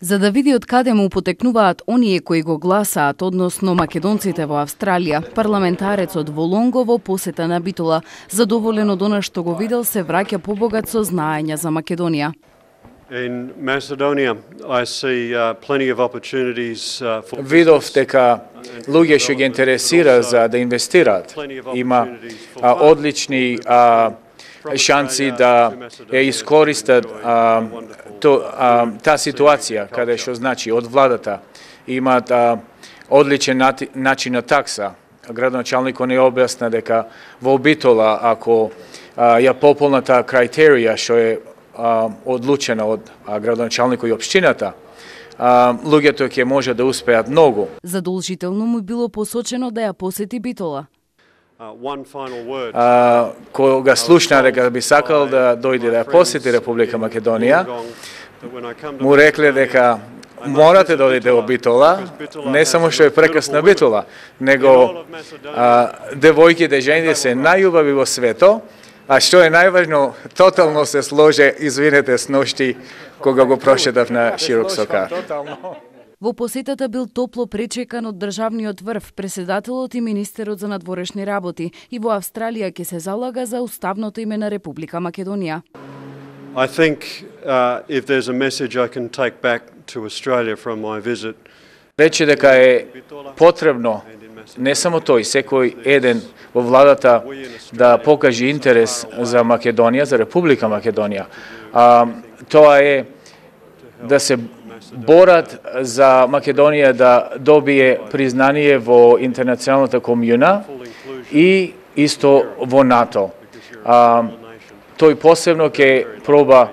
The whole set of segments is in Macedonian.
За да види од каде му потекнуваат оние кои го гласаат, односно македонците во Австралија, парламентарецот во Лонго во посета на Битола, задоволен од она што го видел, се враќа побогат со знаење за Македонија. In Macedonia, I see plenty of opportunities for Видов дека луѓе што ги интересира за да инвестираат. Има одлични шанси да ја искористат таа ситуација, каде што значи од владата имаат одличен начин на такса. Градоначалникот не објасна дека во Битола, ако ја пополна таа критерија што е одлучена од градоначалникот и општината, луѓето ќе може да успеат многу. Задолжително му било посочено да ја посети Битола. Кога слушна дека би сакал да дојде да ја посети Република Македонија, му рекле дека морате да одите во Битола, не само што е прекрасна Битола, него девојките, жените се најубави во свето, а што е најважно, тотално се сложи, извинете, с ношти кога го прошетав на широк сокар. Во посетата бил топло пречекан од државниот врв, преседателот и министерот за надворешни работи, и во Австралија ќе се залага за уставното име на Република Македонија. I think if there's a message I can take back to Australia from my visit. Рече дека е потребно не само тој, секој еден во владата да покаже интерес за Македонија, за Република Македонија. Тоа е да се борат за Македонија да добие признание во интернационалната комјуна и исто во НАТО. Тој посебно ќе проба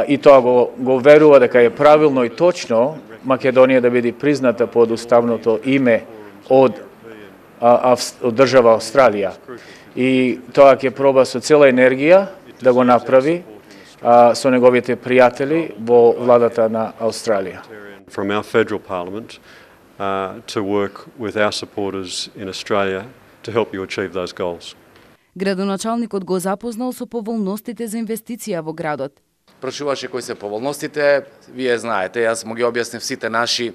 и тоа го верува дека е правилно и точно Македонија да биде призната под уставното име од држава Австралија. И тоа ќе проба со цела енергија да го направи со неговите пријатели во владата на Австралија. From our federal parliament to work with our supporters in Australia to help you achieve those goals. Градоначалникот го запознал со поволностите за инвестиција во градот. Прашуваше кои се поволностите, вие знаете, јас му ги објаснив сите наши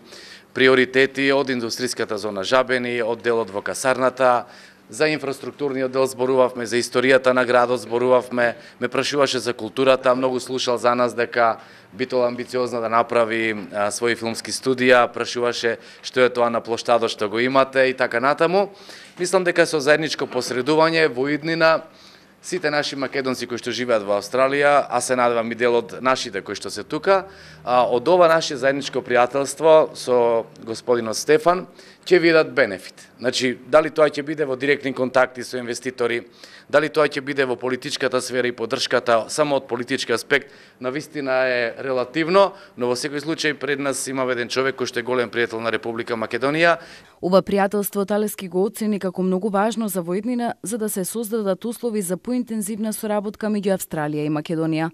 приоритети од индустријската зона Жабени, од делот во касарната, за инфраструктурниот дел зборувавме, за историјата на градот зборувавме, ме прашуваше за културата, многу слушал за нас дека Битола амбициозна да направи своји филмски студија, прашуваше што е тоа на плоштадот што го имате и така натаму. Мислам дека со заедничко посредување во иднина сите наши македонци кои што живеат во Австралија, а се надевам и дел од нашите кои што се тука, од ова наше заедничко пријателство со господинот Стефан ќе видат бенефит. Значи, дали тоа ќе биде во директни контакти со инвеститори, дали тоа ќе биде во политичката сфера и поддршката само од политички аспект, навистина е релативно, но во секој случај пред нас има еден човек кој што е голем пријател на Република Македонија. Ова пријателство Талески го оцени како многу важно за воеднина за да се создадат услови за поинтензивна соработка меѓу Австралија и Македонија.